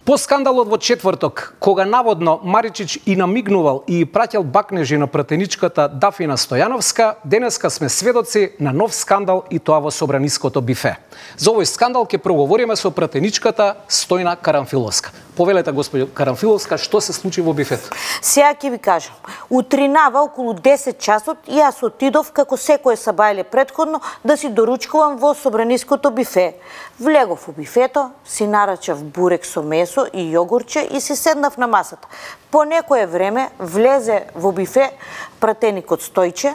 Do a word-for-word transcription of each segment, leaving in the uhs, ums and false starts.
По скандалот во четврток, кога наводно Маричич и намигнувал и праќал бакнежи на пратеничката Дафина Стојановска, денеска сме сведоци на нов скандал и тоа во собраниското бифе. За овој скандал ќе проговориме со пратеничката Стојна Карамфиловска. Повелете, господи Карамфиловска, што се случи во бифето? Сега ќе ви кажам. Утринава околу десет часот јас отидов како секое сабајле претходно да си доручкувам во собраниското бифе. Влегов во бифето, си нарачав бурек со месо и јогурче и си седнав на масата. По некое време влезе во бифе пратеникот Стојче,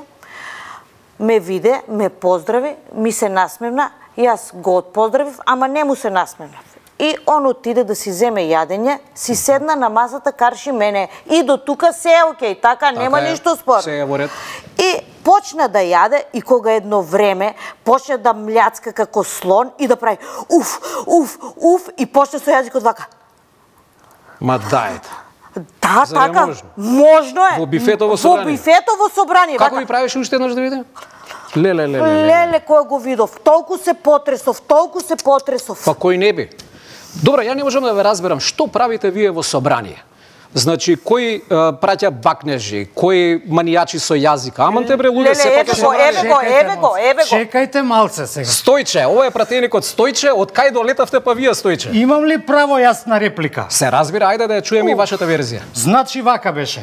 ме виде, ме поздрави, ми се насмевна, јас го отпоздравив, ама не му се насмевнав. И он отиде да си земе јадење, си седна на масата, карши мене. И до тука се е окей, така, така нема е, ништо спор. Се е во ред. И почна да јаде и кога едно време почна да мљацка како слон и да прави уф, уф, уф и почна со јазикот вака. Ма дајте. Да, Зар така, можно? можно е. Во бифето во собрание. Во бифето во собрание. Како ви правиш уште еднаш да видим? Леле, леле, леле. Леле, кој го видов. Толку се потресов, толку се потресов. Па кој не би? Добро, ја не можам да ве разберам, што правите вие во собрание? Значи, кој е, праќа бакнежи, кој манијачи со јазика? Аман те бре, луѓе, се пак го, еве го, еве го, еве го. Чекајте малце сега. Стојче, ова е пратеникот Стојче, од кај долетавте па вие Стојче? Имам ли право јас на реплика? Се разбира, ајде да ја чуеме и вашата верзија. Значи вака беше.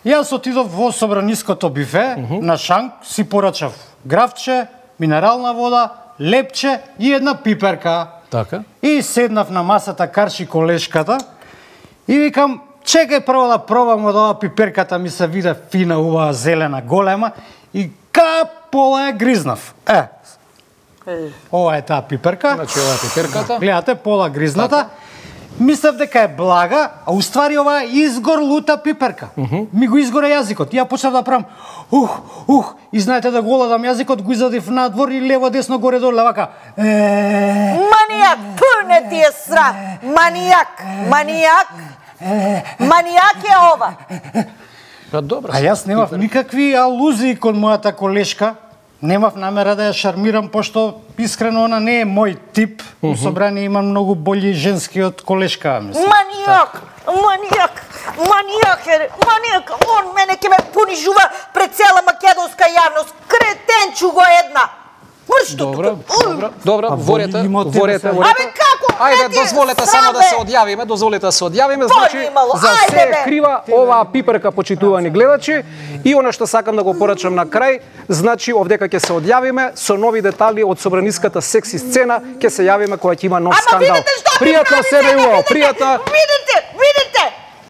Јас отидов во собраниското бифе, uh -huh. на шанк, си порачав гравче, минерална вода, лепче и една пиперка. Така. И седнав на масата, карши колешката и викам, чекај прво да пробам од ова пиперката, ми се виде фина, убава, зелена, голема и ка пола ја гризнав. Е, ова е таа пиперка. Значи ова е пиперката. Гледате, пола гризната. Мислев дека е блага, а уствари ова е изгорлута пиперка. Uh -huh. Ми го изгоре јазикот. Ја почнав да правам ух, ух, и знаете да го ладам јазикот, го изадив надвор и лево, десно, горе, доле, вака. Е... Манијак, пуне ти е срам. Манијак, манијак. Манијак е ова. Па добро. А јас немав никакви алузии кон мојата колешка. Немав намера да ја шармирам, пошто искрено она не е мој тип. У собрание има многу болji женски од колешка, мислам. Манијак, манијак, манијак е, манијак. Он мене ќе ме понижува пред цела македонска јавност. Кретенчу го една. Добро, добро, добро, ворете, ворете, ворете. Абе како? Ајде, дозволете само да се одјавиме, дозволете да се одјавиме, значи за се е крива оваа пиперка, почитувани гледачи, и она што сакам да го порачам на крај, значи овдека ќе се одјавиме со нови детали од собраниската секси сцена, ќе се јавиме кога ќе има нов скандал. Пријатно себе и убаво, пријатно.